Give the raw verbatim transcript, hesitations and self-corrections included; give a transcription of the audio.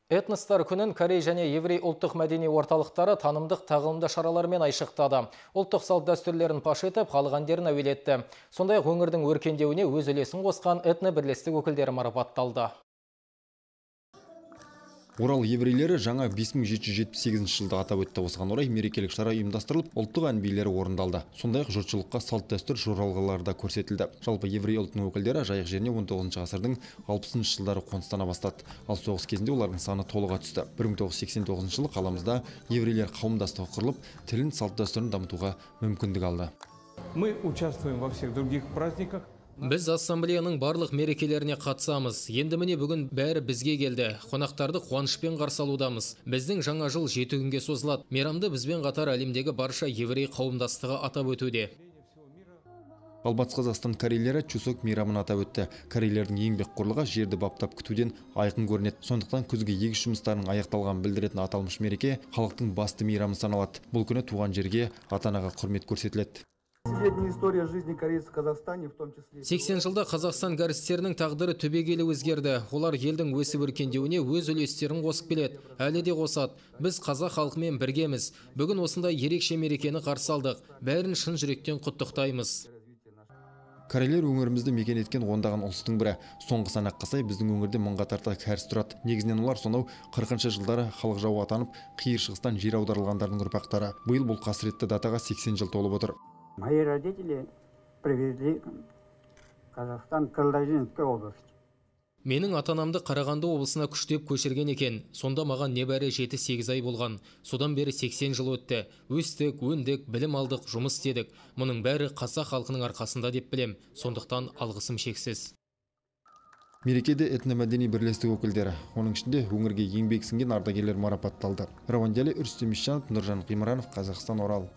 Этностар күнін Корей және еврей ұлттық мәдени орталықтары танымдық тағылымды шаралармен айшықтады. Ұлттық салт дәстүрлерін паш етіп, халық әндерін әуелетті. Сондай-ақ өңірдің өркендеуіне өз үлесін қосқан этно бірлестік өкілдері марапатталды. Орал еврейлері жаңа бес мың жеті жүз жетпіс сегізінші жылды атап өтті. Осыған орай мерекелік шара ұйымдастырылып, ұлттық ән билері орындалды. Сондай-ақ жұртшылыққа салт дәстүр жоралғылары да көрсетілді. Жалпы еврей ұлтының өкілдері жайық жеріне он тоғызыншы ғасырдың алпысыншы жылдары қоныстана бастады. Ал соғыс кезінде олардың саны толыға түсті. бір мың тоғыз жүз сексен тоғызыншы жылы қаламызда еврейлер қауымдастығы құрылып, тілін, салт дәстүрін дамытуға мүмкіндік алды. Мы участвуем во всех других праздниках. Біз ассамблеяның барлық мерекелеріне қатысамыз. Енді міне бүгін бәрі бізге келді. Қонақтарды қуанышпен қарсы алудамыз. Біздің жаңа жыл жеті күнге созылады. Мейрамды бізбен қатар әлемдегі барша еврей қауымдастығы атап өтуде. Ал Батыс Қазақстан корейлері Чусок мейрамын атап өтті. Корейлердің еңбекқорлығы жерді баптап күтуден айқын көрінеді. Сондықтан күзгі егіс жұмыстарының аяқталғанын білдіретін аталмыш мереке халықтың басты мейрамы саналады. Бұл күні туған жерге, ата-анаға құрмет көрсетіледі. сексен жылда Қазақстан кәрістерінің тағдыры түбегейлі өзгерді. Олар елдің өсіп өркендеуіне өз үлестерін қосып келеді. Әлі де қосады. Біз қазақ халқымен біргеміз. Бүгін осындай ерекше мерекені қарсы алдық. Бәрін шын жүректен құттықтаймыз. Корейлер өңірімізді мекен еткен ондаған ұлыстың бірі. Соңғы санаққа сай біздің өңірде мыңға тарта кәріс тұрады. Негізінен олар сонау қырқыншы жылдары халық жауы атанып, қиыр шығыстан жер аударылғандардың ұрпақтары. Биыл бұл қасіретті датаға сексен жыл толып отыр. Мои родители привезли Казахстан Калдажинской области. Менің ата-анамды Қарағанды облысына күштеп көшірген екен. Сонда маған небәрі жеті сегіз ай болған. Содан бері сексен жыл өтті. Өстік, өндік, білім алдық, жұмыс істедік. Мұның бәрі қазақ халқының арқасында деп білем. Сондықтан алғысым шексіз. Мерекеде этномәдени бірлестік өкілдері, оның ішінде өңірге еңбек сіңген ардагерлер марапатталды. Рауандиялы Үрстем Исжанов, Нұржан Қимранов, Қазақстан, Орал.